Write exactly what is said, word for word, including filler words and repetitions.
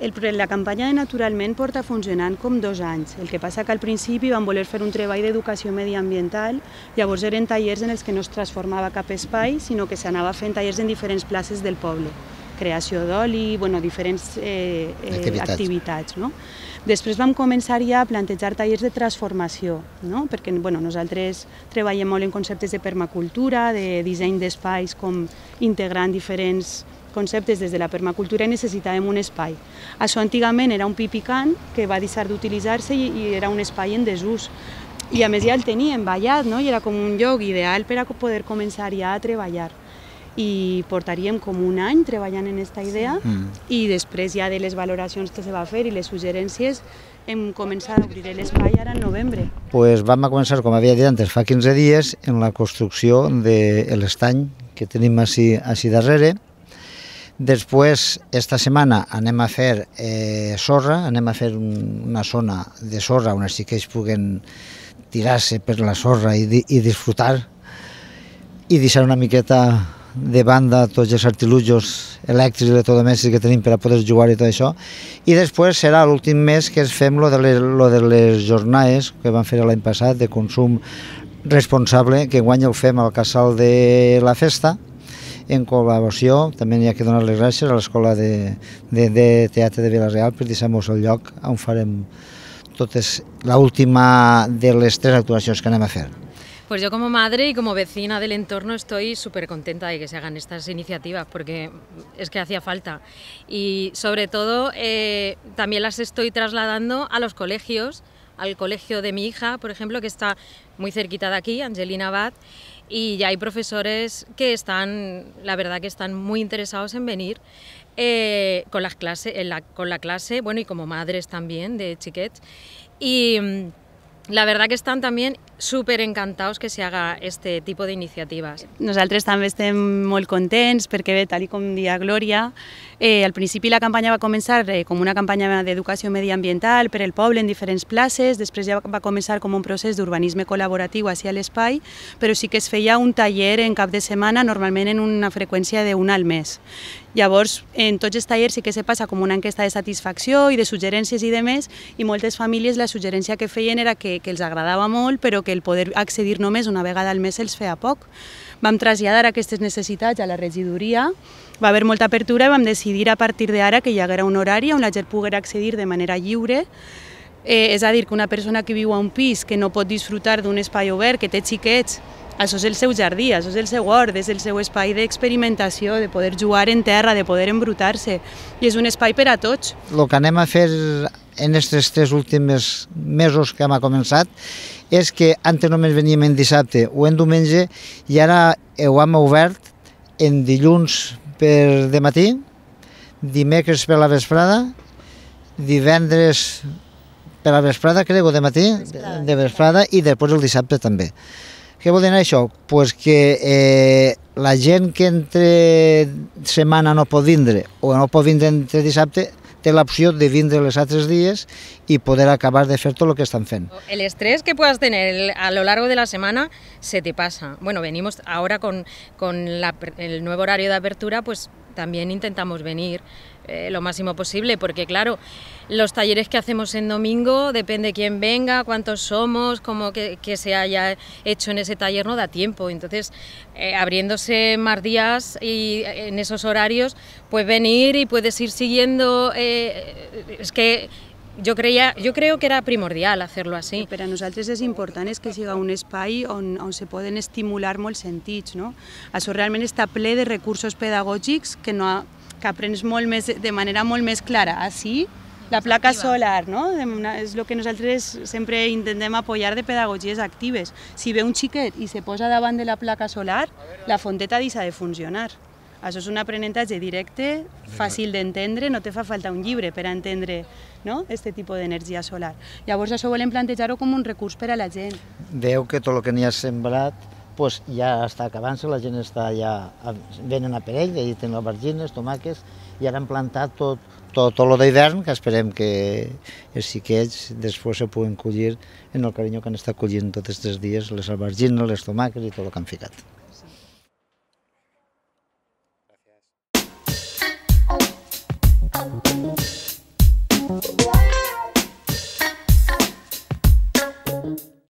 El, la campanya de Naturalment porta funcionant com dos anys. El que passa que al principi vam voler fer un treball d'educació mediambiental, llavors eren tallers en els que no es transformava cap espai, sinó que s'anava fent tallers en diferents places del poble. Creació d'oli, bueno, diferents eh, eh, activitats. activitats no? Després vam començar ja a plantejar tallers de transformació, no? Perquè bueno, nosaltres treballem molt en conceptes de permacultura, de disseny d'espais, com integrant diferents conceptes des de la permacultura i necessitàvem un espai. Això antigament era un pi picant que va deixar d'utilitzar-se i, i era un espai en desús. I a més ja el teníem ballat, no? I era com un lloc ideal per a poder començar ja a treballar. I portaríem com un any treballant en aquesta idea mm. i després ja de les valoracions que se va fer i les suggerències hem començat a obrir l'espai ara en novembre. Pues vam a començar, com havia dit antes, fa quinze dies, en la construcció de l'estany que tenim així, així darrere. Després, esta setmana anem a fer eh, sorra, anem a fer un, una zona de sorra on els xiquets puguen tirar-se per la sorra i, i disfrutar i deixar una miqueta de banda tots els artilugis elèctrics i electrodomèstics que tenim per a poder jugar i tot això. I després serà l'últim mes que fem lo de, les, lo de les jornades que vam fer l'any passat de consum responsable, que guany el fem al Casal de la Festa, en col·laboració. També hi ha que donar les gràcies a l'Escola de, de, de Teatre de Vila-real per deixar-nos el lloc on farem totes l'última de les tres actuacions que anem a fer. Pues yo como madre y como vecina del entorno estoy súper contenta de que se hagan estas iniciativas porque es que hacía falta y sobre todo eh, también las estoy trasladando a los colegios, al colegio de mi hija, por ejemplo, que está muy cerquita de aquí, Angelina Abad, y ya hay profesores que están, la verdad que están muy interesados en venir eh, con, las clases, en la, con la clase, bueno, y como madres también de xiquets, y la verdad que están también súper encantados que se haga este tipo de iniciatives. Nosaltres també estem molt contents perquè, bé, tal com dia Glòria, eh, al principi la campanya va començar eh, com una campanya d'educació mediambiental per al poble en diferents places, després ja va començar com un procés d'urbanisme col·laboratiu hacia l'espai, però sí que es feia un taller en cap de setmana, normalment en una freqüència d'un al mes. Llavors, en tots els tallers sí que se passa com una enquesta de satisfacció i de suggerències i de més, i moltes famílies la suggerència que feien era que, que els agradava molt, però que el poder accedir només una vegada al mes els feia poc. Vam traslladar aquestes necessitats a la regidoria, va haver molta apertura i vam decidir a partir d'ara que hi haguera un horari on la gent poguera accedir de manera lliure. Eh, és a dir, que una persona que viu a un pis que no pot disfrutar d'un espai obert, que té xiquets, això és el seu jardí, això és el seu hort, és el seu espai d'experimentació, de poder jugar en terra, de poder embrutar-se, i és un espai per a tots. El que anem a fer en aquests tres últims mesos que hem començat és que antes només veníem en dissabte o en diumenge i ara ho hem obert en dilluns per de matí, dimecres per la vesprada, divendres per la vesprada, crec, o de matí, de vesprada, i després el dissabte també. Què vol dir això? Pues que eh, la gent que entre setmana no pot vindre o no pot vindre entre dissabte té l'opció de vindre els altres dies y poder acabar de fer tot el que estan fent. El estrés que puedas tener a lo largo de la semana se te pasa. Bueno, venimos ahora con, con la, el nuevo horario de apertura, pues también intentamos venir eh, lo máximo posible, porque claro, los talleres que hacemos en domingo, depende quién venga, cuántos somos, cómo que, que se haya hecho en ese taller, no da tiempo. Entonces, eh, abriéndose más días y en esos horarios, pues venir y puedes ir siguiendo, eh, es que Jo, creia, jo creo que era primordial hacerlo así. Per a nosaltres és important és que siga un espai on, on se poden estimular molts sentits, no? Això realment està ple de recursos pedagògics que, no, que aprens molt més, de manera molt més clara. Així, la placa solar, no? És el que nosaltres sempre intentem apoyar de pedagogies actives. Si ve un xiquet i se posa davant de la placa solar, la fonteta deixa de funcionar. Això és un aprenentatge directe, fàcil d'entendre, no te fa falta un llibre per a entendre aquest tipus d'energia solar. Llavors això volem plantejar-ho com un recurs per a la gent. Veu que tot el que n'hi ha sembrat pues ja està acabant-se, la gent està ja, venen a per ell, allà tenen albergines, tomàquets, i ara han plantat tot, tot, tot lo d'hivern, que esperem que els xiquets després se puguen collir en el carinyo que han estat collint tots aquests dies, les albergines, les tomàquets i tot el que han ficat. Gràcies.